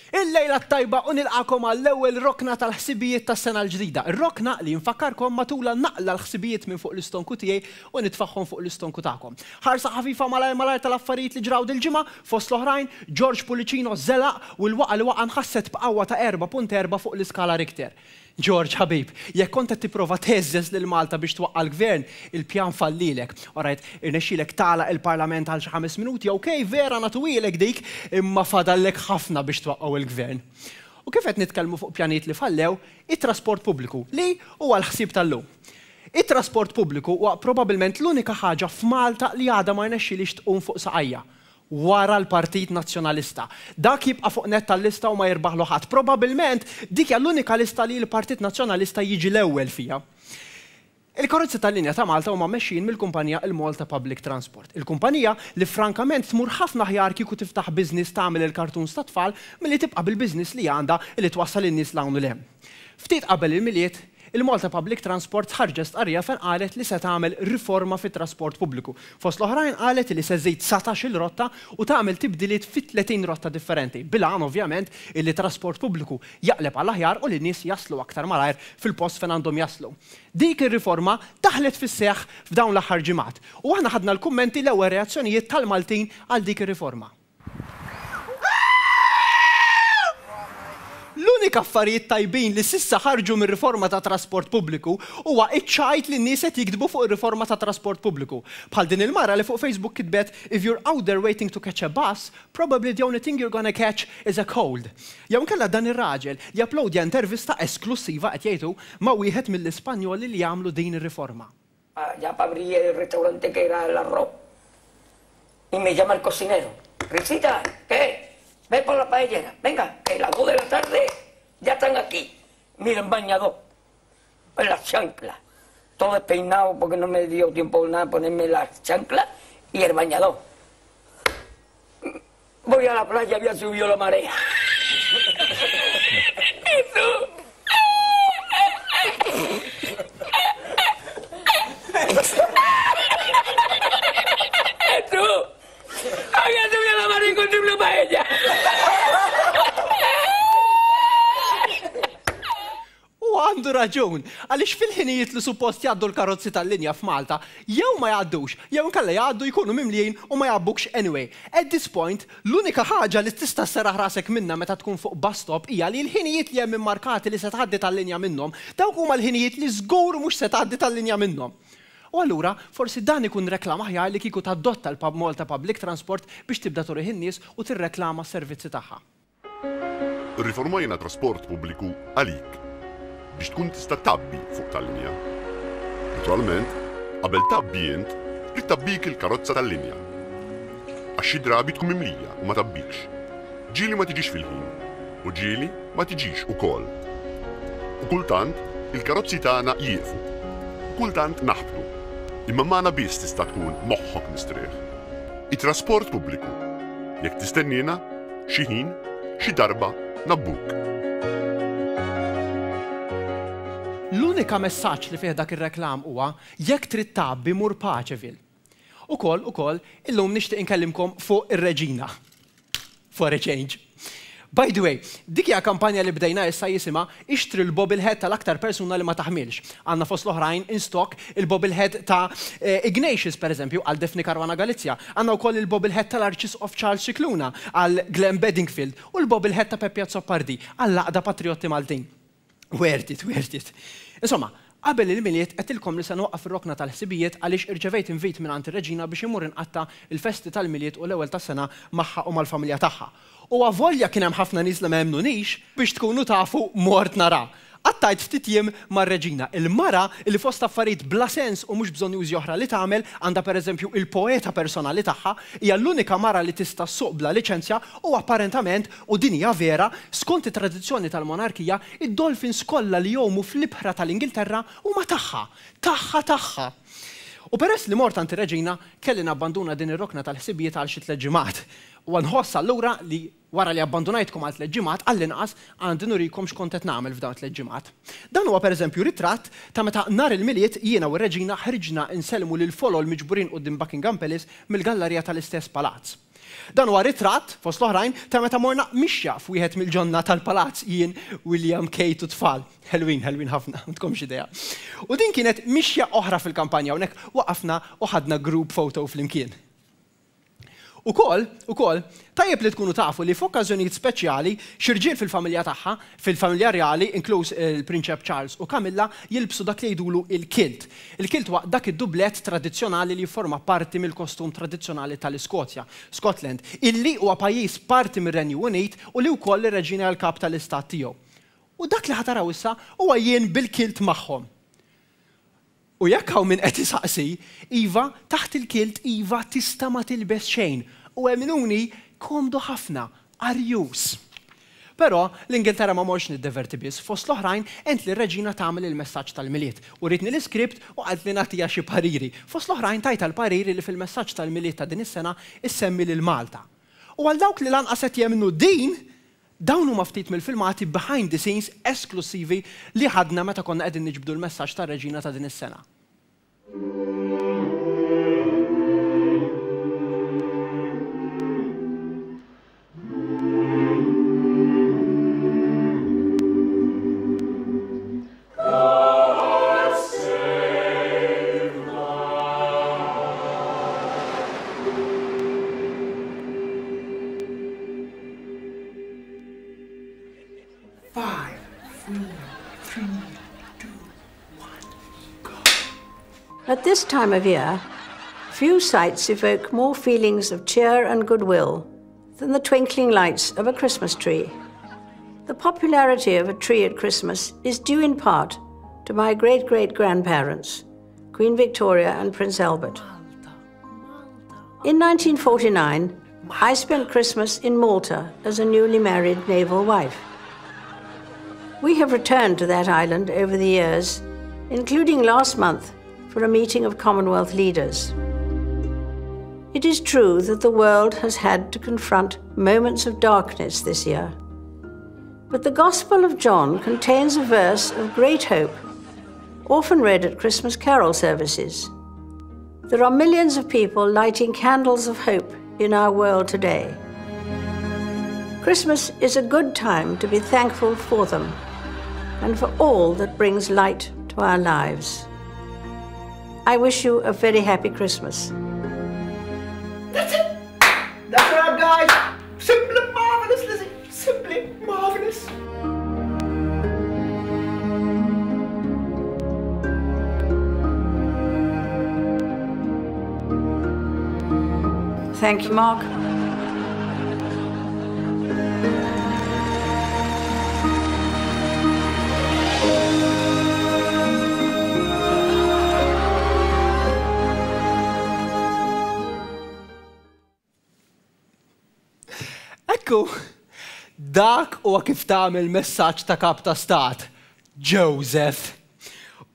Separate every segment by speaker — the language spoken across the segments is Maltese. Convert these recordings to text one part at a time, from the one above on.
Speaker 1: Il-lejla t-tajba u nilqagħkom għall-ewwel rokna tal-ħsibijiet tas-sena l-ġdida. Ir-rokna li nfakkarkom matulha naqla' l-ħsibijiet minn fuq l-istonku tiegħi u nitfagħhom fuq l-istonku tagħkom. Ħarsa ħafifa malajr malajr tal-affarijiet li ġraw dil-ġimgħa, fost l-oħrajn, George Pullicino żelaq u l-waqgħa li waqa' nħasset b'qawwa ta' 4.4 fuq l-iskala Richter. George ħabib, jekk kont qed tipprova theżżeż lil Malta biex twaqqa' l-Gvern, il-pjan fallielek. Alright, irnexxielek tagħlaq il-Parlament għal xi ħames minuti, ok, vera nagħtuhielek dik, imma fadallek ħafna biex twaqqgħu l-Gvern. U kif qed nitkellmu fuq pjanijiet li fallew, it-trasport pubbliku, li huwa l-ħsieb tal-lum. It-trasport pubbliku huwa probabilment l-unika ħaġa f'Malta li għadha ma rnexxilhiex tqum fuq saqajha. Wara l-Partit Nazzjonalista. Dak jibqa' fuq nett tal-lista u ma jirbaħlu ħadd. Probabilment dik hija l-unika lista li l-Partit Nazzjonalista jiġi l-ewwel fiha. Il-karozzi tal-linja ta' Malta huma mmexxijin mill-kumpanija il-Malta Public Transport. Il-kumpanija li frankament tmur ħafna aħjar kieku tiftaħ business tagħmel il-cartoons tat-tfal milli tibqa' bil-business li għandha li twassal in-nies 'l hawn u 'l hemm. Ftit qabel il-Milied, il-Malta Public Transport ħarġet stqarrija fejn qalet li se tagħmel riforma fit-trasport pubbliku. Fost l-oħrajn qalet li se żżid 19-il rotta u tagħmel tibdiliet fi 30 rotta differenti, bil-għan ovvjament illi t-trasport pubbliku jaqleb għall-aħjar u li n-nies jaslu aktar malajr fil-post fejn għandhom jaslu. Dik ir-riforma daħlet fis-seħħ f'dawn l-aħħar ġimgħat u aħna ħadna l-kummenti l-ewwel reazzjonijiet tal-Maltin għal dik ir-riforma. L-unika affarijiet tajbin li s'issa ħarġu mir-riforma tat-trasport pubbliku huwa ċ-ċajt li n-nies qed jiktbu fuq ir-riforma tat-trasport pubbliku. Bħal din il-mara li fuq Facebook kitbet If you're out there waiting to catch a bus, probably the only thing you're gonna catch is a cold. Jew inkella dan ir-raġel li uploadja intervista esklussiva, qed jgħid hu, ma' wieħed mill-Ispanjoli li għamlu din ir-riforma.
Speaker 2: Ya pa abrir el restaurante que era el arroz. Y me llama el cocinero. Risita, ¿qué? Ve por la paellera. Venga, que a las 2 de la tarde ya están aquí. Mira, en bañador, en las chanclas. Todo despeinado porque no me dio tiempo nada ponerme las chanclas y el bañador. Voy a la playa, había subido la marea. Jesús! Había subido la marea y encontré una paella.
Speaker 1: U għandu raġun, għaliex fil-ħinijiet li suppost jgħaddu l-karozzi tal-linja f'Malta, jew ma jgħaddux, jew inkella jgħaddu jkunu mimlijin u ma jgħabbukx anyway. At this point, l-unika ħaġa li tista' sserraħ rasek minnha meta tkun fuq bus stop hija li l-ħinijiet li hemm immarkati li se tgħaddi tal-linja minnhom, dawk huma l-ħinijiet li żgur mhux se tgħaddi tal-linja minnhom. U allura, forsi dan ikun reklam aħjar li kieku tadotta l-Malta Public Transport biex tibda turih in-nies u tirreklama s-servizzi tagħha.
Speaker 3: Irriformajna t-trasport pubbliku għalik biex tkun tista' tgħabbi fuq tal-linja. Naturalment, qabel tgħabbi int, trid tgħabbik il-karozza tal-linja. Għax xi drabi tkun mimlija u ma tgħabbikx. Ġieli ma tiġix fil-ħin u ġieli ma tiġix ukoll. U kultant il-karozzi tagħna jieqfu. U kultant naħbtu. Imma magħna biss tista' tkun moħħok mistrieħ. It-trasport pubbliku. Jekk tistenniena, Xi ħin, xi darba, ngħabbuk.
Speaker 1: L-unika messaġġ li fih dak ir-reklam huwa, jekk trid tgħabbi mur Paceville. Ukoll, ukoll, illum nixtieq inkellimkom fuq ir-Reġina. For a change. By the way, dik hija kampanja li bdejna issa jisimha Ixtri l-bobblehead tal-aktar persuna li ma taħmilx. Għandna fost l-oħrajn in stock il-bobblehead ta' Ignatius, per eżempju, għal Daphne Caruana Galizia. Għandna wkoll il-bobblehead tal-Arċisqof Charles Scicluna għal Glenn Bedingfield u l-bobblehead ta' Peppi Azzopardi għall-Għaqda Patrijotti Maltin. Worth it, worth it. Insomma, qabel il-Milied għedtilkom li se nwaqqaf ir-rokna tal-ħsibijiet għaliex irċevejt invit mingħand ir-Reġina biex immur inqatta' l-festi tal-Milied u l-Ewwel tas-Sena magħha u mal-familja tagħha. U avolja kien hemm ħafna nies li ma emmnunix, biex tkunu tafu mort nara. Qattajt ftit jiem mar-Reġina, il-mara li fost affarijiet bla sens u mhux bżonnjużi oħra li tagħmel, għandha pereżempju il-poeta personali tagħha, hija l-unika mara li tista' ssuq bla liċenzja u apparentament, u din hija vera, skont it-tradizzjoni tal-monarkija, id-dolphins kollha li jgħumu fl-ibħra tal-Ingilterra huma tagħha! Tagħha tagħha! U peress li mort għand ir-Reġina, kelli nabbanduna din ir-rokna tal-ħsibijiet għal xi tliet ġimgħat. U nħoss allura li wara li abbandunajtkom għal tliet ġimgħat, għall-inqas għandi nurikom x'kont qed nagħmel f'dawn it-tliet ġimgħat. Dan huwa pereżempju ritratt ta' meta nhar il-Milied jiena u r-Reġina ħriġna nsellmu lill-folol miġburin quddiem Buckingham Palace mill-gallarija tal-istess palazz. Dan huwa ritratt, fost l-oħrajn, ta' meta morna mixja f'wieħed mill-ġonna tal-palazz jien, William, Kate u t-tfal. Ħelwin, ħelwin ħafna, m'għandkomx idea. U din kienet mixja oħra fil-kampanja, hawnhekk waqafna u ħadna group photo flimkien. Ukoll, ukoll, tajjeb li tkunu tafu li f'okkażjonijiet speċjali, xi rġiel fil-familja tagħha, fil-familja rjali, inkluż il-Prinċep Charles u Camilla, jilbsu dak li jgħidulu il-kilt. Il-kilt huwa dak id-dublett tradizzjonali li jifforma parti mill-kostum tradizzjonali tal-Iskozja, Scotland, illi huwa pajjiż parti mir-Renju Unit u li wkoll ir-Reġina hija l-kap tal-istat tiegħu. U dak li ħa taraw issa huwa jien bil-kilt magħhom. U jekk hawn min qed isaqsi, iva, taħt il-kilt iva tista' ma tilbes xejn. U emmnuni, komdu ħafna, arjuż. Però, l-Ingilterra ma mortx niddeverti biss, fost l-oħrajn għent lir-Reġina tagħmel il-messaġġ tal-Milied. Urietni l-iskript u qaltli nagħtiha xi pariri. Fost l-oħrajn tajtha l-pariri li fil-messaġġ tal-Milied ta' din is-sena issemmi lil Malta. U għal dawk li lanqas qed jemmnu din, Dawn huma ftit mill-filmati behind the scenes esklussivi li ħadna meta konna qegħdin niġbdu l-messaġġ tar-Reġina ta' din is-sena.
Speaker 4: Five, four, three, two, one, go. At this time of year, few sights evoke more feelings of cheer and goodwill than the twinkling lights of a Christmas tree. The popularity of a tree at Christmas is due in part to my great great grandparents, Queen Victoria and Prince Albert. In 1949, I spent Christmas in Malta as a newly married naval wife. We have returned to that island over the years, including last month for a meeting of Commonwealth leaders. It is true that the world has had to confront moments of darkness this year. But the Gospel of John contains a verse of great hope, often read at Christmas carol services. There are millions of people lighting candles of hope in our world today. Christmas is a good time to be thankful for them and for all that brings light to our lives. I wish you a very happy Christmas.
Speaker 1: That's it. That's right, guys. Simply marvelous, Lizzie. Simply marvelous.
Speaker 4: Thank you, Mark.
Speaker 1: Ekku, dak huwa kif tagħmel messaġġ ta' kap ta' stat, Joseph.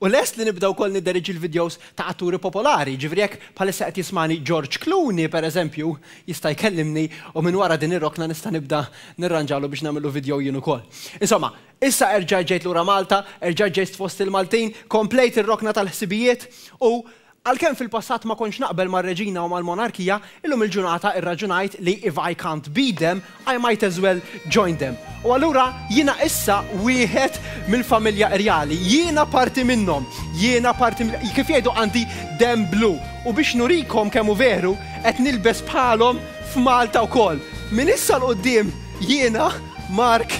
Speaker 1: U lest li nibda wkoll nidderieġi l-vidjows ta' atturi popolari, jiġifieri jekk bħalissa qed jismagħni George Clooney, per eżempju, jista' jkellimni u minn wara din ir-rokna nista' nibda nirranġalu biex nagħmillu vidjow jien ukoll. Insomma, issa erġajt ġejt lura Malta, erġajt ġejt fost il-Maltin, komplejt ir-rokna tal-ħsibijiet u Għalkemm fil-passat ma kontx naqbel mar-Reġina u mal-monarkija, illum il-ġurnata irraġunajt li if I can't beat them, I might as well join them. U allura jiena issa wieħed mill-familja rjali. Jiena parti minnhom. Jiena parti mill-, kif jgħidu għandi demm blu. U biex nurikom kemm hu veru, qed nilbes bħalhom f'Malta wkoll. Minn issa 'l quddiem jiena Mark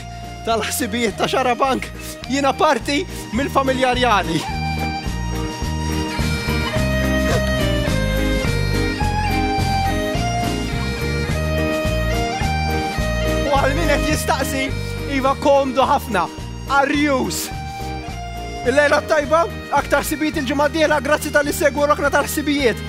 Speaker 1: tal-ħsibijiet ta' Xarabank, jiena parti mill-familja rjali. U għal min qed jistaqsi, iva komdu ħafna, arjus. Il-lejla tajba, aktar ħsibijiet il-ġimgħa d-dieħla, grazzi tal-li segwu rokna tal-ħsibijiet.